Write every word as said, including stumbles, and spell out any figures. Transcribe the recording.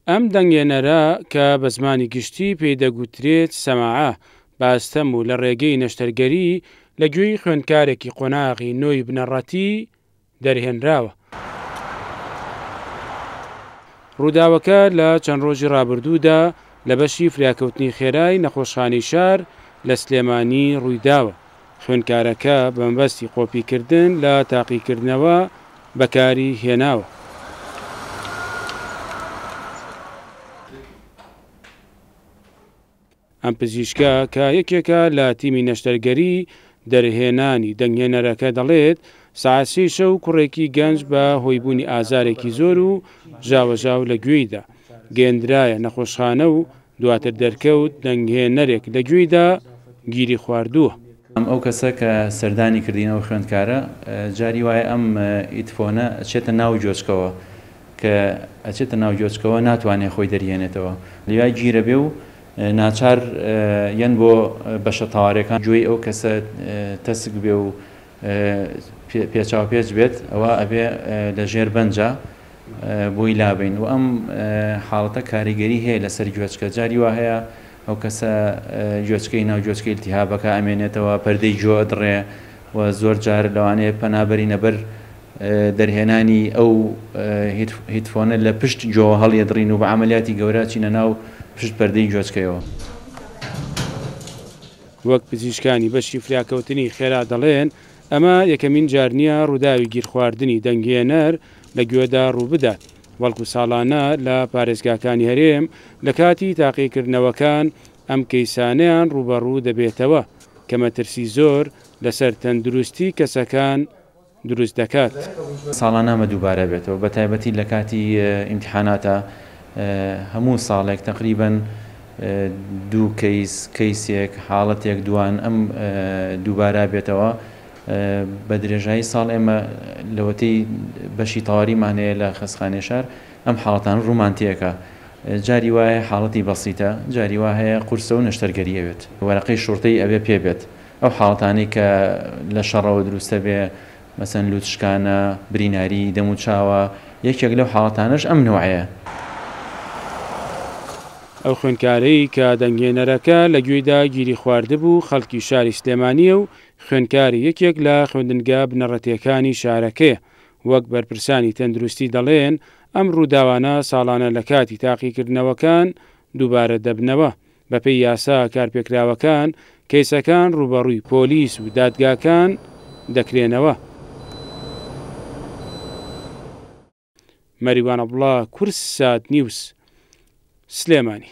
ئەم دەنگێنەرە کە بە زمانی گشتی پێی دەگوترێت سەماعە، بە ئەستەم و لە ڕێگەی نەشتەرگەری لە گوێی خوێندکارێکی قۆناغی نۆی بنەڕەتی دەرهێنراوە. ڕووداوەکە لە چەند ڕۆژی ڕابردوودا لە بەشی فریاکەوتنی خێرای نەخۆشخانەی شار لە سلێمانی ڕوویداوە. خوێندکارەکە بە مەبەستی قۆپیکردن لە تاقیکردنەوە بەکاری هێناوە. ئەم پزیشکە کە یەکێکە لە تیمی نەشتەرگەری دەرهێنانی دەنگهێنەرەکە دەڵێت سەعات سێی شەو کوڕێکی گەنج بە هۆیبوونی ئازارێکی زۆر و ژاوەژاو لە گوێیدا گەیەندرایە نەخۆشخانە و دواتر دەرکەوت دەنگهێنەرێک لە گوێیدا گیری خواردووە. ئەو کەسە کە سەردانی کردینەوە خوێندکارە جاری وایە ئەم ئیتفۆنە ئەچێتە ناو گۆچکەوە، کە ئەچێتە ناو گۆچکەوە ناتوانێت خۆی دەرهێنێتەوە، لەویا گیرە بێ و ناچار یەن بۆ بەشە تەوارەکان گوێی ئەو کەسە تەسک بێ و پێچاوپێچ بێت، ئەوە ئەبێ لە ژێر بەنجە بۆی لابین. و ئەم حاڵەتە کاریگەری هەیە لەسەر گوێچکە، جاری وا هەیە ئەو کەسە گوێچکەی ناو گوێچکەی التهابەکە ئەمێنێتەوە، پەردەی گوێ ئەدڕێ و زۆر جار لەوانەیە پەنابەرینە بەر دەرهێنانی ئەو هیتفۆنە لە پشت گوێوە هەڵیەدڕین و بە عەمەلیاتی گەورە چینە ناو پشت پەردەی گوێچکەیەوە. وەک پزیشکانی بەشی فریاکەوتنی خێرا دەڵێن ئەمە یەکەمین جار نییە ڕووداوی گیرخواردنی دەنگهێنەر لە گوێدا ڕوو بدات، بەڵکو ساڵانە لە پارێزگاکانی هەرێم لە کاتی تاقیکردنەوەکان ئەم کەیسانەیان ڕووبەڕوو دەبێتەوە کە مەترسی زۆر لەسەر تەندروستی کەسەکان دروست دەکات. ساڵانە ئەمە دووبارە بێتەوە، بە تایبەتی لە کاتی ئیمتحاناتە هەموو ساڵێک تقریباً دوو کەیس، کەیسێک، حاڵەتێک دوان ئەم دووبارە بێتەوە. بە درێژایی ساڵ ئێمە لەوەتەی بەشی تەواریمان هەیە لە خەستخانەی شار ئەم حاڵەتانە ڕوومانتیەکە. جاری وایە حاڵەتی بەسیتە، جاری وا هەیە قورسە و نەشتەرگەری ئەوێت، وەرەقەی شورتەی ئەوێ پێ بێت. ئەو حاڵەتانەی کە لە شەڕەوە دروستە بێ، مەسەن لوتشکانە، بریناری دەموچاوە، یەکێک لەو حاڵەتانەش ئەم نوعەیە. ئەو خوێندکارەی کە دەنگهێنەرەکە لە گوێیدا گیری خواردبوو خەڵکی شاری سلێمانییە و خوێندکاری یەکێک لە خوێندنگا بنەڕەتیەکانی شارەکەیە. وەک بەرپرسانی تەندروستی دەڵێن ئەم ڕووداوانە ساڵانە لە کاتی تاقیکردنەوەکان دووبارە دەبنەوە. بەپێی یاسا کارپێکراوەکان کەیسەکان ڕووبەڕووی پۆلیس و دادگاکان دەکرێنەوە. مەریوان عەبدوڵا، کوردسات نیوز، سلێمانی.